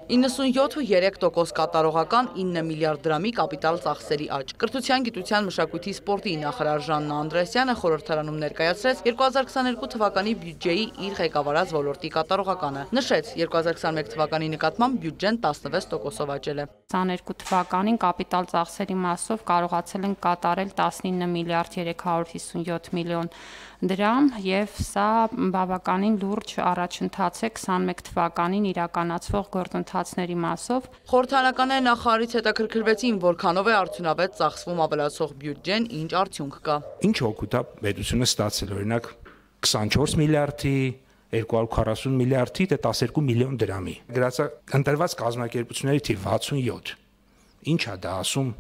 97,3% կատարողական 9 միլիարդ դրամի կապիտալ ծախսերի աճ։ Կրթության, գիտության, մշակույթի, սպորտի նախարար Ժաննա Անդրեասյանը խորհրդարանում ներկայացրեց 2022 թվականի բյուջեի իր ղեկավարած ոլորտի կատարողականը։ Նշեց, 2021 թվականի նկատմամբ բյուջեն 16%-ով աճել է։ 22 թվականին կապիտալ ծախսերի մասով կարողացել ենք կատարել 19 միլիարդ 357 միլիոն դրամ եւ սա բավականին լուրջ առաջընթաց է 21 թվականին իրականացվող գործընթացների մասով։ Խորհրդարանական նախարարից հետաքրքրվեցին, որքանով է արդյունավետ ծախսվում ավելացող բյուջեն, ինչ արդյունք կա։ Ինչ օգուտ է պետությունը ստացել, օրինակ 24 միլիարդի 240 միլիարդի դե 12 միլիոն դրամի։ Գրածա ընտրված կազմակերպությունների թիվ 67։ Ինչ է դա ասում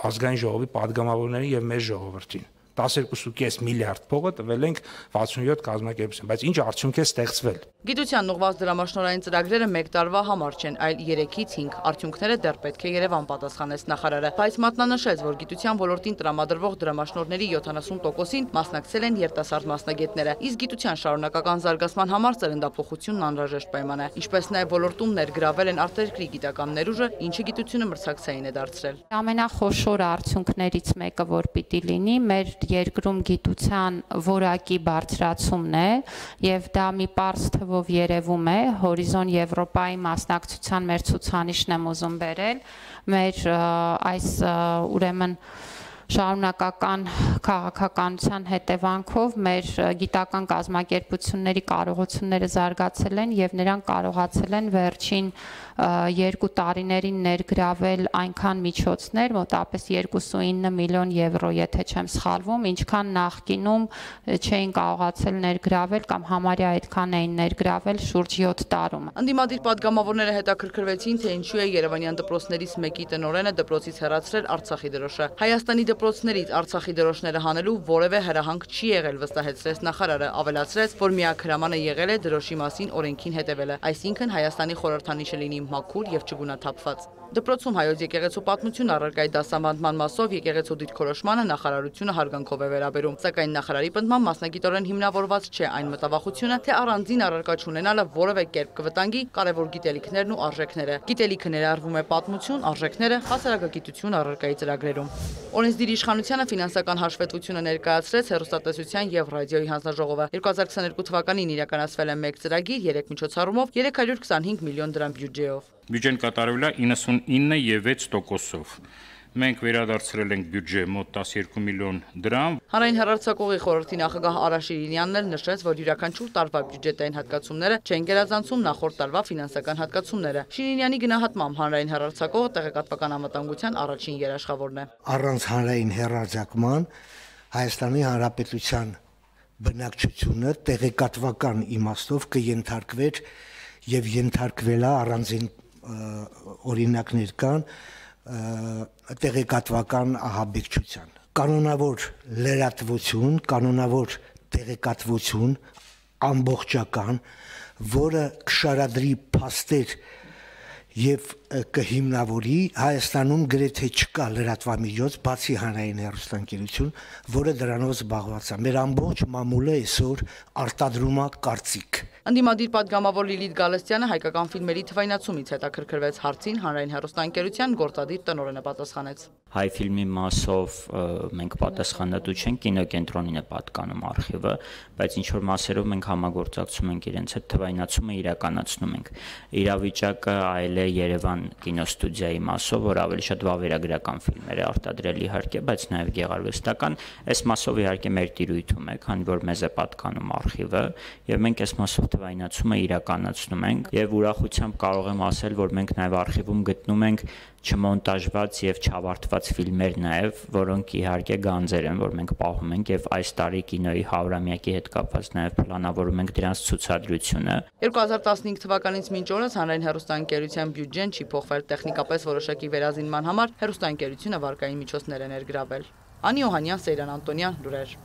ազգային ժողովի падգամավորներին եւ մեր ժողովրդին։ 12.5 միլիարդ փողը տվել ենք 67 կազմակերպություն, բայց ինչ արդյունք է ստեղծվել։ Գիտության ուղղված դրամաշնորհային ծրագրերը 1 տարվա համար չեն, այլ 3-ից 5 արդյունքները դեռ պետք է Երևան պատասխանեց նախարարը, բայց մատնանշեց, որ գիտության ոլորտին տրամադրվող դրամաշնորհների 70%-ին մասնակցել են երիտասարդ մասնագետները, իսկ գիտության շարունակական զարգացման համար ծերնդափոխությունն անհրաժեշտ պայման է, ինչպես նաև ոլորտում ներգրավել են արտերկրի գիտական ներուժը, ինչը գիտությունը մրցակցային է դարձրել։ Ամենախոշոր արդյունքներից մեկը, որ պիտի լինի, մեր երկրում գիտության որակի բարձրացումն է եւ դա մի պարզ թվով երևում է Հորիզոն Եվրոպայի մասնակցության մեր ցուցանիշն եմ ուզում բերել մեր այս ուրեմն շարունակական քաղաքականության հետևանքով մեր գիտական կազմակերպությունների կարողությունները զարգացել են եւ նրանք կարողացել են վերջին 2 տարիներին ներգրավել այնքան միջոցներ, մոտավորապես 2.9 միլիոն եվրո, եթե չեմ սխալվում, ինչքան նախկինում չէին կարողացել ներգրավել կամ համարյա այդքան էին ներգրավել շուրջ 7 տարում։ Ընդդիմադիր падգամավորները հետաքրքրվեցին, թե ինչու է Երևանյան դպրոցներից մեկի տնօրենը դպրոցից հեռացրել Արցախի դրոշը։ Հայաստանի դպրոցներից Արցախի դրոշները հանելու որևէ հրահանգ չի եղել, վստահեցրեց նախարարը, ավելացրեց, որ միակ հրամանը եղել է դրոշի մասին օրենքին հետևելը, այսինքն Հայաստանի խորհրդանիշը լինի մաքուր եւ չգունաթափված։ Դպրոցում հայոց եկեղեցու պատմություն առարկայի դասավանդման մասով եկեղեցու դիրքորոշմանը նախարարությունը հարգանքով է վերաբերում, սակայն նախարարի պնդմամբ մասնագիտորեն հիմնավորված չէ այն մտավախությունը, թե առանձին առարկա չունենալը որևէ կերպ կվտանգի կարևոր գիտելիքներն ու արժեքները։ Գիտելիքը ներառվում է պատմություն, արժեքները, հասարակագիտություն առարկայի ծրագրերում։ Օրենսդիր իշխանությանը ֆինանսական հաշվետվությունը ներկայացրեց հեռուստատեսության եւ ռադիոյի հանձնաժողովը։ 2022 թվականին իրականացվել է մեկ ծրագիր 3 միջոցառումով 325 միլիոն դրամ բյուջեով։ Բյուջեն կատարվել է 99.6%-ով։ Մենք վերադարձրել ենք բյուջե մոտ 12 միլիոն դրամ։ Հանրային հեռարձակողի խորհրդի նախագահ Արա Շիրինյանն էլ նշեց, որ յուրաքանչյուր տարվա բյուջետային հատկացումները չեն գերազանցում նախորդ տարվա ֆինանսական հատկացումները։ Շիրինյանի գնահատմամբ հանրային հեռարձակողը տեղեկատվական անվտանգության առաջին երաշխավորն է։ Առանց հանրային հեռարձակման Հայաստանի Հանրապետության բնակչությունը տեղեկատվական իմաստով կենթարկվեր եւ ենթարկվել է առանձին օրինակներ կան տեղեկատվական ահաբեկչության։ Կանոնավոր լրատվություն, կանոնավոր տեղեկատվություն ամբողջական, որը կշարադրի փաստեր եւ կհիմնավորի Հայաստանում գրեթե չկա լրատվամիջոց, բացի հանրային հեռուստաընկերություն, որը դրանով զբաղված է։ Մեր ամբողջ մամուլը այսօր արտադրում է կարծիք։ Ընդդիմադիր падգամավոր Լիլիթ Գալստյանը հայկական ֆիլմերի թվայնացումից հետաքրքրվեց հարցին, հանրային հեռուստաընկերության գործադիր տնօրենը պատասխանեց։ Հայ ֆիլմի մասով մենք պատասխանատու չենք, կինոկենտրոնին է պատկանում արխիվը, բայց ինչ որ մասերով մենք համագործակցում ենք իրենց հետ, թվայնացումը իրականացնում ենք։ Իրավիճակը այլ է Երևան կինոստուդիայի մասով, որ ավելի շատ վավերագրական ֆիլմեր է արտադրել իհարկե, բայց նաև գեղարվեստական, այս մասով իհարկե մեր տիրույթում է, քանի որ մեզ է պատկանում արխիվը, եւ մենք այս մասով թվայնացումը իրականացնում ենք եւ ուրախությամբ կարող եմ ասել, որ մենք նաև արխիվում գտնում ենք չմոնտաժված եւ չավարտված ֆիլմեր նաեւ, որոնք իհարկե գանձեր են, որ մենք պահում ենք եւ այս տարի կինոյի 100-ամյակի հետ կապված նաեւ պլանավորում ենք դրանց ցուցադրությունը։ 2015 թվականից մինչ օրս հանրային հեռուստաընկերության բյուջեն չի փոխվել, տեխնիկապես որոշակի վերազինման համար հեռուստաընկերությունը վարկային միջոցներ է ներգրավել։ Անի Օհանյան, Սեյրան Անտոնյան, լուրեր։